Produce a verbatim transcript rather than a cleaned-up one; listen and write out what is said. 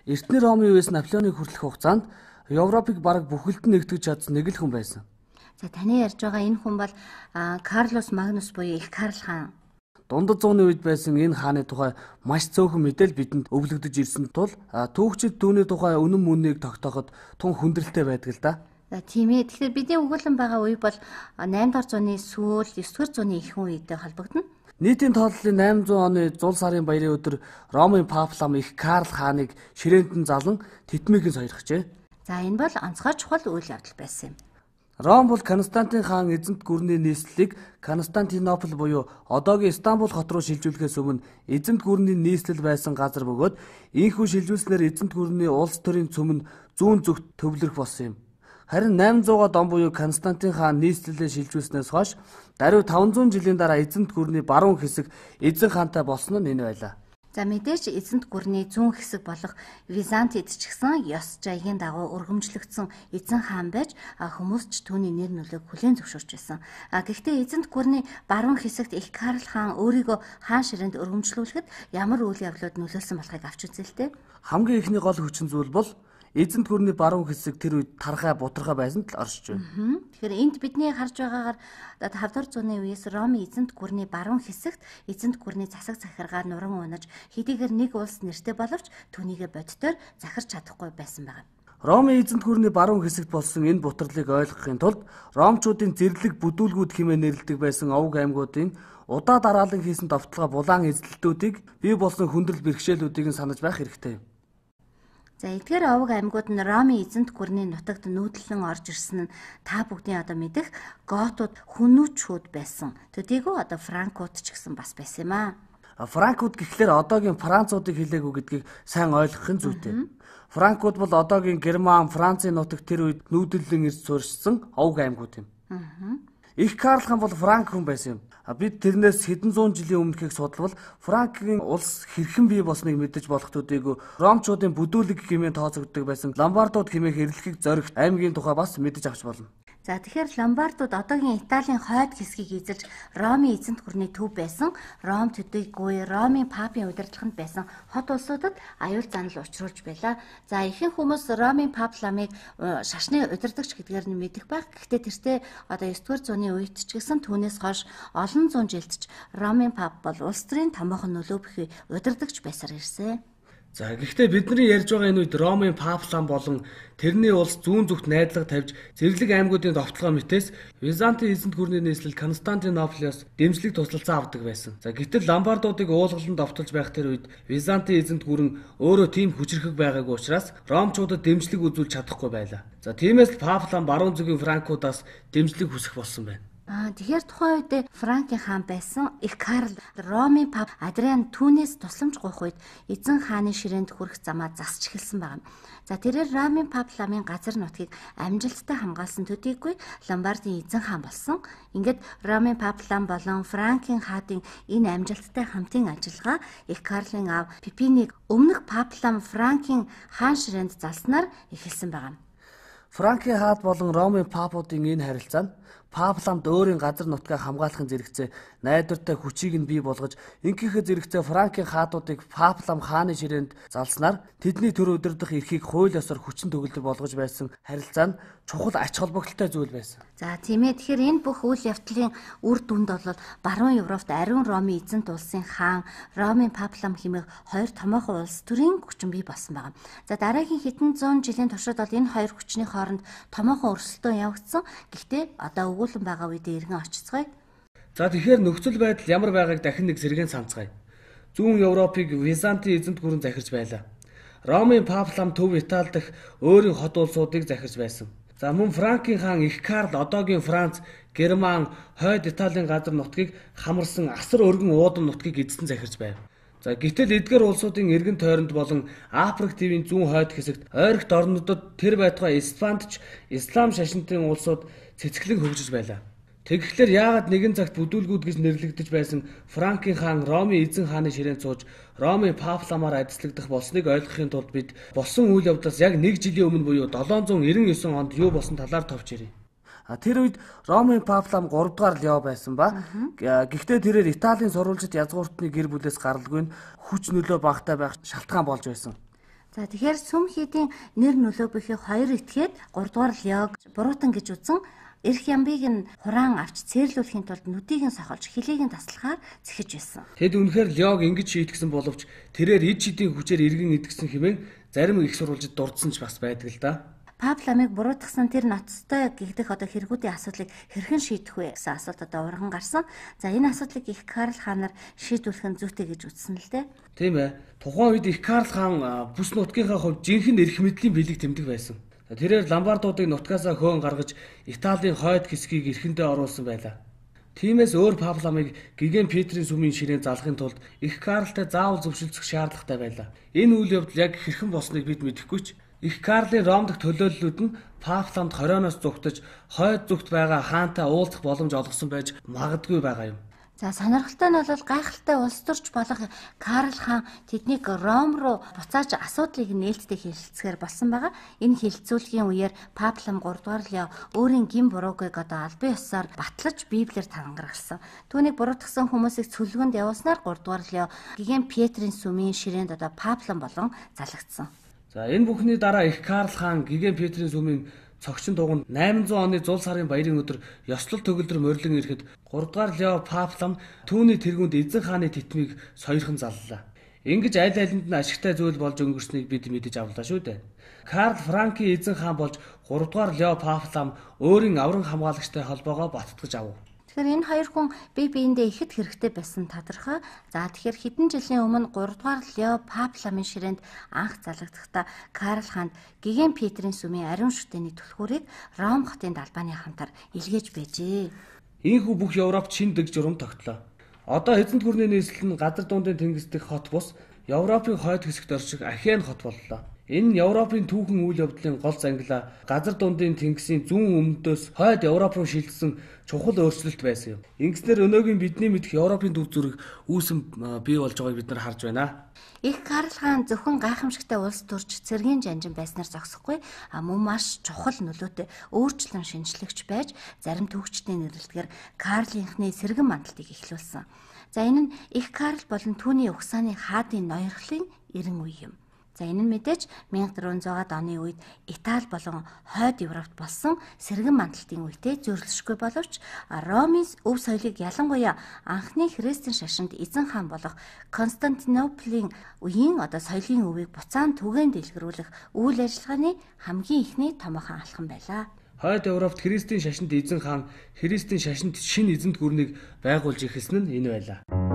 Эртний Ромын үеэс Наполеоныг хүртэлх хугацаанд Европыг бараг бүхэлд нь нэгтгэж чадсан нэг л хүн байсан. За таны ярьж байгаа энэ хүн бол Карлос Магнус буюу их Карл хаан. Дундад зууны үед байсан энэ хааны тухай маш цөөхөн мэдээлэл бидэнд өвлөгдөж ирсэн тул түүхчид түүний тухай үнэн мөнийг тогтооход тун хүндрэлтэй байдаг л да. За тийм ээ. Тэгэхээр бидний өгүүлэн байгаа үе бол наймдугаар зууны сүүл, есдүгээр зууны ихэнх үетэй холбогдно. Нийтийн тоотлолын найман зуун оны зул сарын баярын өдөр Ромын пап лам их Карл хааныг ширээнд нь залан тэтмийг нь сойрхжээ. За энэ бол онцгой чухал үйл явдал байсан юм. Ром бол Константин хаан эзэнт гүрний нийслэлийг Константинопол буюу одоогийн Стамбул хот руу шилжүүлэхээс өмнө эзэнт гүрний нийслэл байсан газар бөгөөд ийхүү шилжүүлснээр эзэнт гүрний улс төрийн цөм нь зүүн зүгт төвлөрөх болсон юм. Харин найман зууны он буюу Константин хаан нийслэлээ шилжүүлснээс хойш даруй таван зуун жилийн дараа эзэнт гүрний баруун хэсэг эзэн хаантай болсон нь энэ байлаа. За мэдээж эзэнт гүрний зүүн хэсэг болох Византид ч гэсэн ёс жаягийн дагуу өргөмжлөгдсөн эзэн хаан байж хүмүүс ч түүний нэр нөлөөг хүлээн зөвшөөрч байсан. А гэхдээ эзэнт гүрний баруун хэсэгт их Карл хаан өөрийгөө хаан ширээнд өргөмжлүүлэхэд ямар үйл явдлууд нөлөөлсөн болохыг авч үзээ л дээ. Хамгийн ихний гол хүчин зүйл бол эзэнт гүрний баруун хэсэг тэр үед тархай бутархай байсан л оршиж байна. Тэгэхээр энд бидний харж байгаагаар тавдугаар зууны үеэс Ромын эзэнт гүрний баруун хэсэгт эзэнт гүрний засаг захиргаар нуран унаж хэдийгээр нэг улс нэртэй боловч түүнийгээ боддоор захирч чадахгүй байсан байна. Ромын эзэнт гүрний баруун хэсэгт болсон энэ бутарлыг ойлгохын тулд ромчуудын зэрлэг бүдүүлгүүд хэмээн нэрлэдэг байсан овг аймагуудын удаа дараалан хийсэн довтлогоо булаан эзлэлтүүдийг бий болсон хүндрэл бэрхшээлүүдийг нь санаж байх хэрэгтэй юм. За эдгээр овг аймагуд нь Ромын эзэнт гүрний нутагт нүүдэлэн орж ирсэн нь та бүгдийн одоо мэдэх готууд хүнүүчүүд байсан. Төдийгүй одоо франкууд ч гэсэн бас байсан юм аа. Франкууд гэхлээр одоогийн француудыг хэлээгүй гэдгийг сайн ойлгохын зүйтэй. Франкууд бол одоогийн Герман, Францын нутагт тэр үед нүүдэлэн ирж суурьшсан овг аймагуд юм. Их Карл хаан бол франк хүн байсан юм. Бид тэрнээс хэдэн зуун жилийн өмнөхийг судалвал Франкийн улс хэрхэн бий болсныг мэдэж болох төдийгүй ромчуудын бүдүүлэг хэмээн тооцогддог байсан ломбардууд хэмээх эрлэхийг зоригт аймгийн тухай бас мэдэж авч болно. За тэгэхээр ломбардууд одоогийн Италийн хойд хэсгийг эзэлж Ромын эзэнт гүрний төв байсан Ром төдийгүй Ромын папын удирдлаганд байсан хот улсуудад аюул занал учруулж байлаа. За ихэнх хүмүүс Ромын пап ламыг шашны удирдагч гэдгээр нь мэдэх байх. Гэхдээ тэртээ одоо есдүгээр зууны үед ч гэсэн түүнээс хойш олон зуун жилд ч Ромын пап бол улс төрийн томоохон нөлөө бүхий удирдагч байсаар ирсэн. За гэхдээ бидний ярьж байгаа энэ үед Ромын пап лам болон тэрний улс зүүн зүгт найдлага тавьж зэрлэг аймагуудын довтлогоо мэтээс Византын эзэнт гүрний нийслэл Константинополиос дэмжлэг туслалцаа авдаг байсан. За гэтэл ломбардуудыг уулгалан довтолж байх тэр үед Византын эзэнт гүрэн өөрөө тийм хүчрхэг байгаагүй учраас ромчуудад дэмжлэг үзүүлж чадахгүй байлаа. За тиймээс л пап лам баруун зүгийн франкуудаас дэмжлэг хүсэх болсон байна. Аа тэгэхээр тухайн үед Франкийн хаан байсан их Карл Ромын пап Адриан түүнээс тусламж гуйх үед эзэн хааны ширээнд хүрэх замаа засч эхэлсэн байна. За тэрээр Ромын пап ламын газар нутгийг амжилттай хамгаалсан төдийгүй Ломбардын эзэн хаан болсон. Ингээд Ромын пап лам болон Франкийн хаадын энэ амжилттай хамтын ажиллагаа их Карлын аав Пипинийг өмнөх пап лам Франкийн хаан ширээнд залснаар эхэлсэн байна. Франкийн хаад болон Ромын папуудын энэ харилцаа нь пап ламд өөрийн газар нутгаа хамгаалахын зэрэгцээ найдвартай хүчийг нь бий болгож ингээхээ зэрэгцээ Франкийн хаадуудыг пап лам хааны ширээнд залснаар тэдний төр удирдах эрхийг хууль ёсоор хүчин төгөлдөр болгож байсан харилцаа нь чухал ач холбогдолтой зүйл байсан. За тийм ээ. Тэгэхээр энэ бүх үйл явдлын үр дүнд бол баруун Европт ариун Ромын эзэнт улсын хаан Ромын пап лам хэмээх хоёр томоохон улс төрийн хүчин бий болсон байна. За дараагийн хэдэн зуун жилийн туршид бол энэ хоёр хүчний хооронд томоохон өрсөлдөөн явагдсан. Гэхдээ одоо өгүүлэн байгаа үедээ иргэн очицгаая. За тэгэхээр нөхцөл байдал ямар байгааг дахин нэг сэргээн санацгаая. Зүүн Европыг Византын эзэнт гүрэн захирч байлаа. Ромын пап лам төв Итали дахь өөрийн хот улсуудыг захирч байсан. За мөн Франкийн хаан их Карл одоогийн Франц, Герман, хойд Италийн газар нутгийг хамарсан асар өргөн уудан нутгийг эзэн захирч байв. За гэтэл эдгээр улсуудын эргэн тойронд болон Африк тивийн зүүн хойд хэсэгт ойрогт орнуудад тэр байтугай Испанд ч ислам шашинтын улсууд цэцгэлэн хөгжиж байлаа. Тэгэхээр яагаад нэгэн цагт бүдүүлгүүд гэж нэрлэгдэж байсан Франкийн хаан Ромын эзэн хааны ширээнд сууж Ромын пап ламаар адислагдах болсныг ойлгохын тулд бид болсон үйл явдлаас яг нэг жилийн өмнө буюу долоон зуун эрдэнэ девять онд юу болсон талаар товч ирье. Тэр үед Ромын пап лам гурав дахь Лео байсан ба гэхдээ тэрээр Италийн сурвалжит язгууртны гэр бүлээс гаралгүй нь хүч нөлөө багтаа байх шалтгаан болж байсан. За тэгэхээр сүм хийдийн нэр нөлөө бүхий хоёр этгээд гуравдугаар Леог буруутан гэж үзэн эрх ямбыг нь хураан авч цээрлүүлэхийн тулд нүдийг нь сохолж хилийг нь таслахаар зэхэж байсан. Тэд үнэхээр Леог ингэж шийтгсэн боловч тэрээр ид шидийн хүчээр иргэн идгсэн хэмээн зарим их сурвалжид дурдсан ч бас байдаг л да. Пап ламыг буруутгасан тэр ноцтой гэгдэх одоо хэрэгүүдийн асуудлыг хэрхэн шийдэх вэ гэсэн асуулт одоо урган гарсан. За энэ асуудлыг их Карл хаанаар шийдвэрлэх нь зүйтэй гэж үзсэн л дээ. Тийм ээ. Тухайн үед их Карл хаан бүс нутгийнхаа хувьд жинхэнэ эрх мэдлийн бэлэг тэмдэг байсан. Тэрээр ламбардуудыг нутгаасаа хөөн гаргаж Италийн хойд хэсгийг эрхэндээ оруулсан байлаа. Тиймээс өөр Пап ламыг Гиген Петрийн сүмийн ширээн залахын тулд их Карлтай заавал зөвшөлдсөх шаардлагатай байлаа. Энэ үйл явдал яг хэрхэн болсныг бид мэдэхгүй ч их Карлын Ром дахь төлөөллүүд нь Пап ламд хорионоос зүгтэж хойд зүгт байгаа хаантай уулзах боломж олгосон байж магадгүй байгаа юм. За сонирхолтой нь бол гайхалтай улс төрч болох Карл хаан тэднийг Ром руу буцааж асуудлыг нээлттэй хэлэлцэхээр болсон байгаа. Энэ хэлэлцүүлгийн үеэр Пап лам гуравдугаар Лео өөрийн гин буруугыг одоо албан ёсоор батлаж Библиэр тангаргалсан. Түүнийг буруутгасан хүмүүсийг цөлгөнд явуулснаар гуравдугаар Лео Гиген Петрийн сүмийн ширээнд одоо Пап лам болон залагдсан. За энэ бүхний дараа их Карл хаан Гиген Петрийн сүмийн цогчин дугуйнд найман зуун оны зул сарын баярын өдөр ёслол төгөлдөр морилон ирэхэд гуравдугаар Лео Пап лам түүний тэргүүнд эзэн хааны титмийг сойрхон заллаа. Ингэж аль алинд нь ашигтай зүйл болж өнгөрснийг бид мэдэж авлаа шүү дээ. Карл Франкийн эзэн хаан болж гуравдугаар Лео Пап лам өөрийн авран хамгаалагчтай холбоогоо баттгаж авав. Тэгэхээр энэ хоёр хүн бие биендээ ихэд хэрэгтэй байсан тодорхой. За тэгэхээр хэдэн жилийн өмнө гуравдугаар Лео Пап ламын ширээнд анх залгагдахдаа Карл хаанд Гиген Петрийн сүмийн ариун шүтээний түлхүүрийг Ром хотын далбааны хамтар илгээж байжээ. Ийхүү бүх Европт шин дэг журам тогтлоо. Одоо эзэнт гүрний нийслэл нь газар дундын тэнгис дэх хот бус Европын хойд хэсэгт орших Ахен хот боллоо. Энэ нь Европын түүхэн үйл явдлын гол зангилаа газар дундын тэнгисийн зүүн өмнөдөөс хойд Европ руу шилжсэн чухал өөрчлөлт байсан юм. Ингэснээр өнөөгийн бидний мэдэх Европын төв зүрэг үүсэн бий болж байгааг бид нар харж байна. Их Карл хаан зөвхөн гайхамшигтай улс төрж цэргийн жанжин байснаар зогсохгүй, а мөн маш чухал нөлөөтэй өөрчлөн шинжлэгч байж зарим төвчдийн нэрлэлтгээр Карлийнхны сэргэн мандалтыг эхлүүлсэн. За энэ нь их Карл болон түүний угсааны хаадын ноёрхлын эрен үе юм. За энэ нь мэдээж мянга дөрвөн зуун оны үед Итали болон хойд Европт болсон сэргэн мандалтын үетэй зөрчилшгүй боловч Ромын өв соёлыг ялангуяа анхны христийн шашинд эзэн хаан болох Константинополийн үеийн одоо соёлын өвийг буцаан түгээн дэлгэрүүлэх үйл ажиллагааны хамгийн ихний томоохон алхам байлаа. Хойд Европт христийн шашинд эзэн хаан христийн шашинд шинэ эзэнт гүрнийг байгуулж эхэлсэн нь энэ байлаа.